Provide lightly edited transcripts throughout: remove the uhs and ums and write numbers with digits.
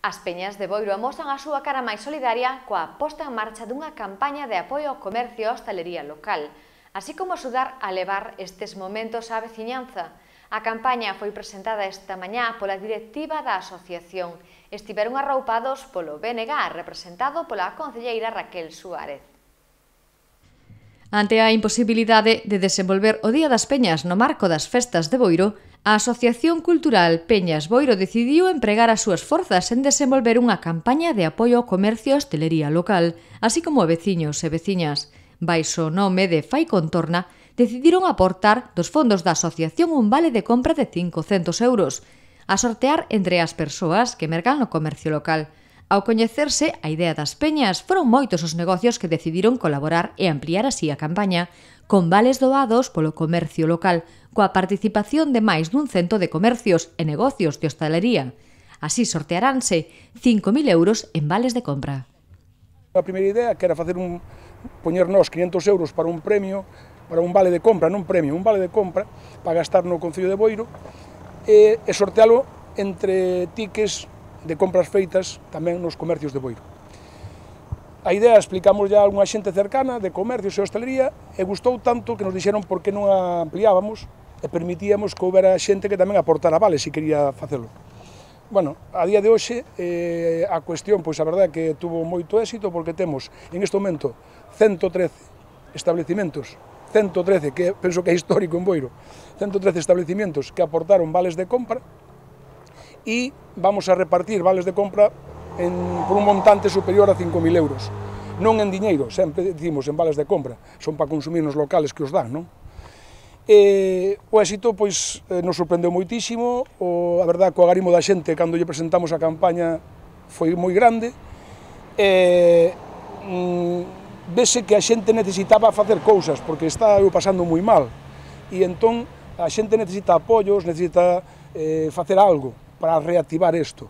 As Peñas de Boiro amosan a súa cara máis solidaria coa posta en marcha dunha campaña de apoio ao comercio e a hostalería local, así como axudar a levar estes momentos á veciñanza. A campaña foi presentada esta mañá pola directiva da asociación. Estiveron arroupados polo BNG, representado pola concelleira Raquel Suárez. Ante a imposibilidade de desenvolver o Día das Peñas no marco das festas de Boiro, a Asociación Cultural Peñas Boiro decidiu empregar as súas forzas en desenvolver unha campaña de apoio ao comercio e hostelería local, así como a veciños e veciñas. Baixo o nome de Fai Contorna, decidiron aportar dos fondos da asociación un vale de compra de 500 euros, a sortear entre as persoas que mercan no comercio local. Ao coñecerse a idea das peñas, foron moitos os negocios que decidiron colaborar e ampliar así a campaña, con vales doados polo comercio local, coa participación de máis dun cento de comercios e negocios de hostalería. Así sortearánse 5.000 euros en vales de compra. A primeira idea que era poñernos 500 euros para un premio, para un vale de compra, non premio, un vale de compra para gastar no Concello de Boiro e sortealo entre tickets de compras feitas tamén nos comercios de Boiro. A idea explicamos ya a unha xente cercana de comercios e hostelería e gustou tanto que nos dixeron por que non a ampliábamos e permitíamos que houbera xente que tamén aportara vales se quería facelo. Bueno, a día de hoxe a cuestión, pois a verdade é que tuvo moito éxito porque temos en este momento 113 establecimentos, 113, que penso que é histórico en Boiro, 113 establecimentos que aportaron vales de compra e vamos a repartir vales de compra por un montante superior a 5.000 euros. Non en diñeiro, sempre dicimos en vales de compra, son para consumir nos locales que os dan, non? O éxito, pois, nos sorprendeu moitísimo, a verdade, co agarimo da xente, cando lle presentamos a campaña, foi moi grande, vese que a xente necesitaba facer cousas, porque está pasando moi mal, e entón a xente necesita apoios, necesita facer algo para reactivar isto.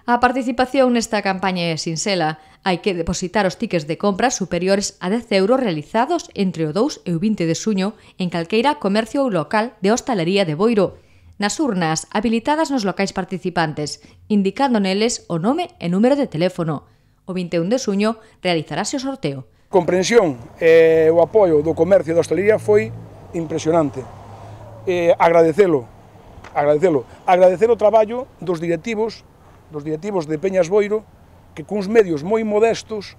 A participación nesta campaña é sinxela. Hai que depositar os tickets de compra superiores a 10 euros realizados entre o 2 e o 20 de xuño en calqueira comercio local de hostalería de Boiro, nas urnas habilitadas nos locais participantes, indicando neles o nome e número de teléfono. O 21 de xuño realizarase o sorteo. A comprensión e o apoio do comercio e da hostalería foi impresionante. Agradecer o traballo dos directivos de Peñas Boiro, que cuns medios moi modestos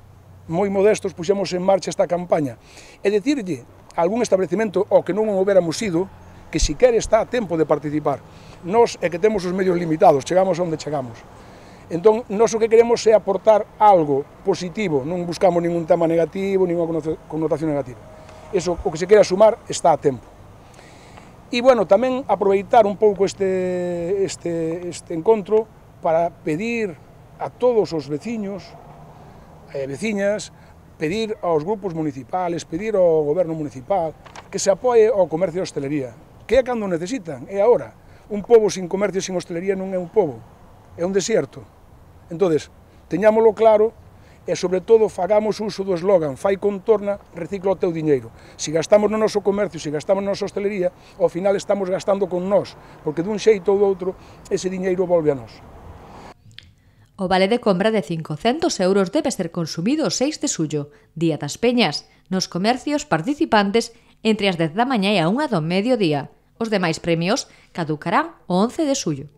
puxemos en marcha esta campaña. E dicirlle a algún establecemento ao que non o houbéramos ido, que siquera está a tempo de participar. Nós é que temos os medios limitados, chegamos onde chegamos. Entón, nós o que queremos é aportar algo positivo, non buscamos ningún tema negativo, ninguna connotación negativa. Eso, o que se quera sumar, está a tempo. E, bueno, tamén aproveitar un pouco este encontro para pedir a todos os veciños e veciñas, pedir aos grupos municipales, pedir ao goberno municipal que se apoie ao comercio e hostelería, que é cando necesitan, é agora. Un pobo sin comercio e sin hostelería non é un pobo, é un desierto. Entonces, teñámolo claro e, sobre todo, fagamos uso do eslogan Fai Contorna, recicla o teu diñeiro. Se gastamos no noso comercio, se gastamos na nosa hostelería, ao final estamos gastando con nós, porque dun xeito ou do outro, ese diñeiro volve a nós. O vale de compra de 500 euros debe ser consumido o 6 de xullo, Día das Peñas, nos comercios participantes entre as 10 da mañá e a 1 do mediodía. Os demais premios caducarán o 11 de xullo.